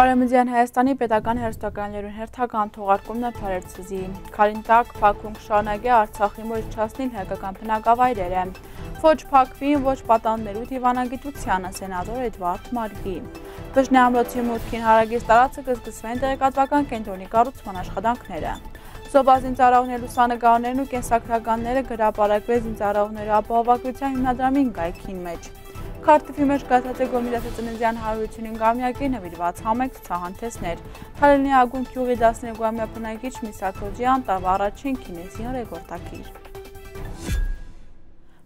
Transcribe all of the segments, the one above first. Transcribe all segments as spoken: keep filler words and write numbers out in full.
Արեմեդեան Հայաստանի պետական հեռուստակայաններուն հերթական թողարկումն է Փարերցուզի։ Քարին տակ Բաքուն կշարունակի Արցախի մոտ չհասնիլ հայկական բնակավայրերը։ Ոչ Բաքվին, ոչ պատաններու դիվանագիտությանը, սենատոր Էդվարդ Մարգի։ Բժնի ամրոցի մուտքին հարակից տարածքը կը սկսվեն տեղեկատվական կենտրոնի կառուցման աշխատանքները։ Զովա զինծառայողներ, լուսանկարներն ու կենսագրականները կը հրապարակուի զինծառայողներու ապահովագրության հիմնադրամին կայքին մէջ։ Քարտիֆի մէջ կայացած է Կոմիտասի ծննդեան հարիւրութիւնին կամեակին նուիրուած համայնք ցուցահանդէսներ։ Թալինի Ագուն գիւղի տասներկուամեայ բնակիչ Միսա Քոջեան տարուայ առաջին Կինեսին ռեկորդակիր։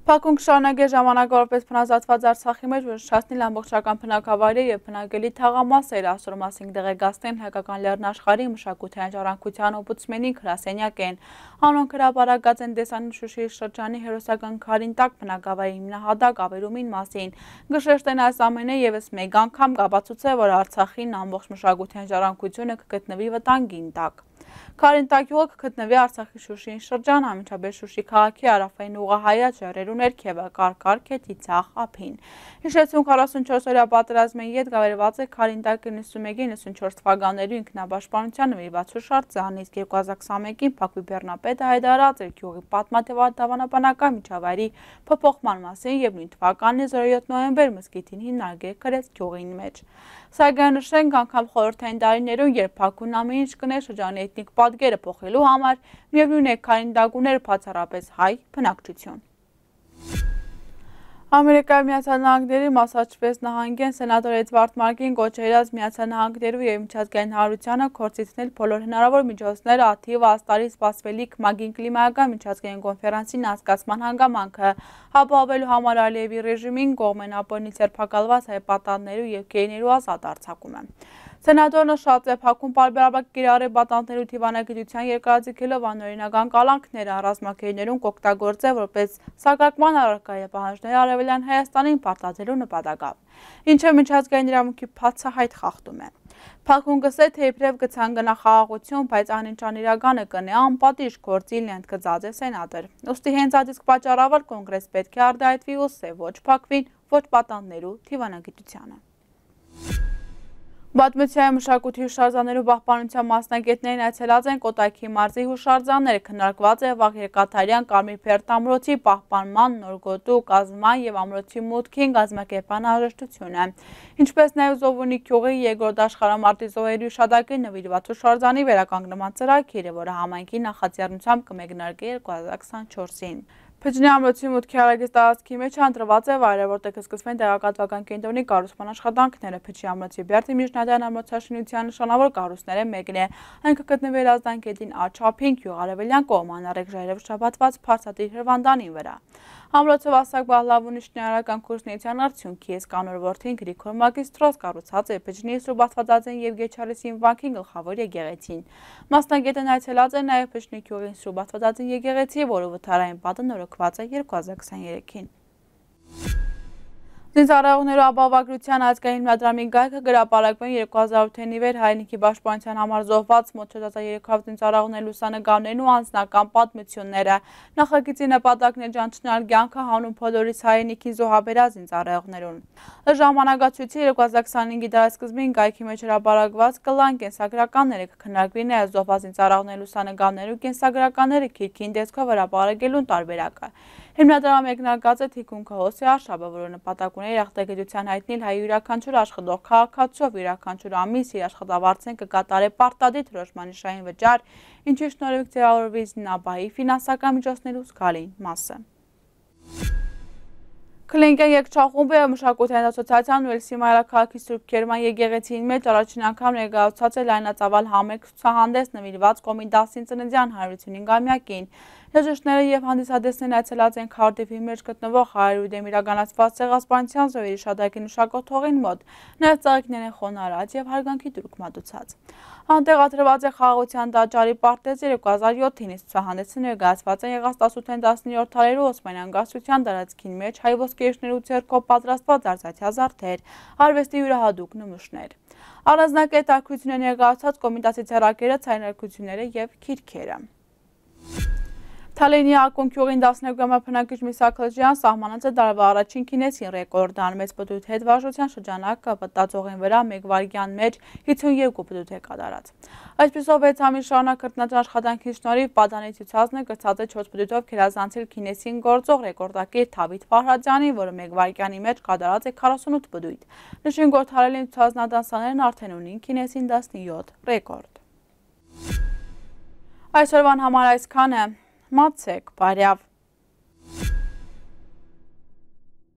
Բաքուն կշարունակէ ժամանակաւորպէս բնազատուած Արցախի մէջ ոչնչացնել ամբողջական բնակավայրը եւ բնակելի թաղամասերը։ Այսօր մասին կտեղեկացնեն հայկական լեռնաշխարհի մշակութային ժառանգության օմբուդսմենին գրասենյակէն։ Անոնք հրապարակած են տեսանիլ Շուշիի շրջանի հերոսական քարին տակ բնակավայրի հիմնահատակ ավերումին մասին։ Կը շեշտեն, այս ամէնը եւս մէկ անգամ կ'ապացուցէ, որ Արցախին ամբողջ մշակութային ժառանգությունը կը գտնուի վտանգին տակ։ Քարին տակ գիւղը կը գտնուի Արցախի Շուշիի շրջան, անմիջապէս Շուշի քաղաքի հարաւային ուղղահայաց ժայռերու ներքեւը, կարկառ քեթի ձախ ափին։ Հիշեցնենք, քառասունչորս օրեայ պատերազմէն ետք աւերուած է քարին տակ իննսունմէկի իննսունչորս թվականներու ինքնապաշտպանության նուիրուած յուշարձան, իսկ երկու հազար քսանմէկին Բաքուի բեռնապետը յայտարարած էր գիւղի պատմադաւանաբանական միջավայրի փոփոխման մասին եւ նոյն թվականի զորոյոթ նոյեմբեր մզկիթին հիմնարկը կրեց գիւղին մէջ։ Սակայն նշենք, անգամ խորհրդային տարիներուն, երբ Բաքուն ամեն ինչ կ'ընէր շրջանի էթնիկ պատկերը փոխելու համար, միեւնոյն է, քարին տակ ունէր բացառապէս հայ բնակչութիւն։ Ամերիկայի Միացյալ Նահանգների Մասաչուսեթս նահանգէն սենատոր Էդվարդ Մարգին կոչ է յրած Միացյալ Նահանգներու եւ միջազգային հանրությանը գործիցնել բոլոր հնարաւոր միջոցները, ա թիւը Աստարի սպասուելիք ՄԱԿ-ին կլիմայական միջազգային կոնֆերանսին անցկացման հանգամանքը, ապահովելու համար Ալիեւի ռեժիմին կողմէն աբորինի ձերբակալուած հայ պատանիներու եւ գերիներու ազատ արձակումը։ Սենատորը նշած է, Բաքուն պարբերաբար կիրառ է պատանիներու դիվանագիտության երկարաձգելով անօրինական կալանքները, ռազմագերիներուն կ'օգտագործէ որպէս սակարկման առարկայ պահանջները Արեւելյան Հայաստանին պարտադրելու նպատակով, ինչը միջազգային իրավունքի բացահայտ խախտում է։ Բաքուն կ'ըսէ, թէ իբրեւ կը ցանկանայ խաղաղութիւն, բայց այն, ինչ անիրականը կ'ընէ, անպատիժ գործիլն է, ընդգծած է սենատոր։ Ուստի հենց այդ իսկ պատճառաւոր Կոնգրես պէտք է արտայայտուի ու սէ ոչ Բաքուին, ոչ պատանիներու դիվանագիտությանը։ Պատմութեան, մշակոյթի, յուշարձաններու պահպանութեան մասնագէտներն այցելած են Կոտայքի մարզի յուշարձանները։ Քննարկուած է վաղ երկաթարեան Կարմիր Բերդ ամրոցի պահպանման, նոր գոտու կազմման եւ ամրոցի մուտքին կազմակերպման անհրաժեշտությունը, ինչպէս նաեւ Զովունի գիւղի երկրորդ աշխարհամարտի զոհերու յիշատակին նուիրուած յուշարձանի վերականգնման ծրագիրը, որը համայնքի նախաձեռնությամբ կը մեկնարկի երկու հազար քսանչորսին։ Փճնի ամրոցի մուտքի հարակից տարածքի մէջ հանդրուած է վայրը, որտեղ կը սկսվեն տեղեկատվական կենտրոնի կառուցման աշխատանքները։ Փճի ամրոցի բերդը միջնադարյան ամրոցաշինութեան նշանաւոր կառույցներէն մէկն է։ Այն կը գտնուի Հրազդան գետին աջ ափին, գիւղ արեւելյան կողմը, անառիկ ժայռերով շաբաթուած բարձրատիր հրուանդանին վրայ։ Ամրոցը Վասակ Բահլավունի շինարարական գործունեության արդիւնք է։ Իսկ անոր որդին Գրիգոր Մագիստրոս կառուցած է Փճնի Սուրբ Աստվածածին եւ Գեչարիսին վանքին գլխաւոր եկեղեցին։ Մասնագետն այցելած է նաեւ Փճնի գիւղին Սուրբ Աստվածածին եկեղեցի, որու վթարային պատը նորոգուած է երկու հազար քսաներեքին։ Զինծառայողներու ապահովագրության ազգային հիմնադրամի կայքը կը հրապարակուի երկու հազար ութին ի վեր հայրենիքի պաշտպանության համար զոհված մոտ չորս հազար երեք հարյուր զինծառայողների լուսանկարներն ու անձնական պատմությունները։ Նախագիծի նպատակն է ճանչնալ կեանքը հանուն բոլորիս հայրենիքին զոհաբերած զինծառայողներուն։ Ըստ ժամանակացոյցի, երկու հազար քսանհինգի դարասկզբին կայքի մէջ հրապարակուած կլան կենսագրականները, կը քննարկուի նաեւ զոհված զինծառայողների լուսանկարներու կենսագրականները գիրքին տեսքով հրապարակելուն տարբերակը։ Հիմնադրամը մեկնարկած է թիկունքը Հոսեա Արշապը, որը նպատակ ունի երախտագիտության յայտնել հայ յուրաքանչյուր աշխատող քաղաքացու, յուրաքանչյուր ամիս իր աշխատավարձէն կը կատարէ պարտադիր դրոշմանիշային վճար, ինչի շնորհիվ ձեւավորուի զինաբահի ֆինանսական միջոցներու զգալին մասը։ Քլինկեն երգչախումբը եւ մշակութային ասոցիացիան Ուելսի մայրաքաղաքի Սուրբ Գերման եկեղեցին մէջ առաջին անգամ ներկայացուցած է լայնածաւալ համերգ ցուցահանդէս նուիրուած Կոմիտասին ծննդեան հարիւրութիւնին կամեակին։ Երաժիշտները եւ հանդիսատեսներն այցելած են Քարդիֆի մէջ գտնուող Հայերու դէմ իրականացուած ցեղասպանութեան զոհերի յիշատակին յուշակոթողին մօտ, նաեւ ծաղիկներ են խոնարհած եւ հարգանքի տուրք մատուցած։ Անտեղադրուած է խաղաղության տաճարի պարտեզը երկու հազար յոթին, իսկ ցուցահանդէսը ներկայացուած է եղած տասութեան տասներորդ դարերու Օսմանեան կայսրութեան տարածքին մէջ հայ ոսկերիչներու ձեռքով պատրաստուած արծաթյա զարդեր, արուեստի յուրահատուկ նմուշներ։ Առանձնակետ արկղութիւնը ներկայացուած Կոմիտասի ձեռագիրը, ցայնարկությունները եւ գիրքերը։ Թալինի Ակուն գիւղին տասներկու ամյա բնակիչ Միսա Քլճեան սահմանած է տարուայ առաջին Գինեսին ռեկորդը։ Անմեծ պտոյտ հետ վարժութեան շրջանակը պտտածողին վրայ մէկ վայրկեան մէջ հիցսունեքու պտոյտ է կատարած։ Այսպիսով, վեց ամիս շարունակ քրտնաջան աշխատանքին շնորհիվ Պադանի ցուցածնը կրցած է չորս պտոյտով գերազանցել Գինեսին գործող ռեկորդակիր Դավիթ Ֆահրատյանին, որը մէկ վայրկեանի մէջ կատարած է քառասունութ պտոյտ։ Նշենք, որ Թալինի ցուցածնատան սաներն արդեն ունին Գինեսին տասնեթ ռեկորդ։ Այսօրվան համար այսքանը։ Մացեք, բարեաւ։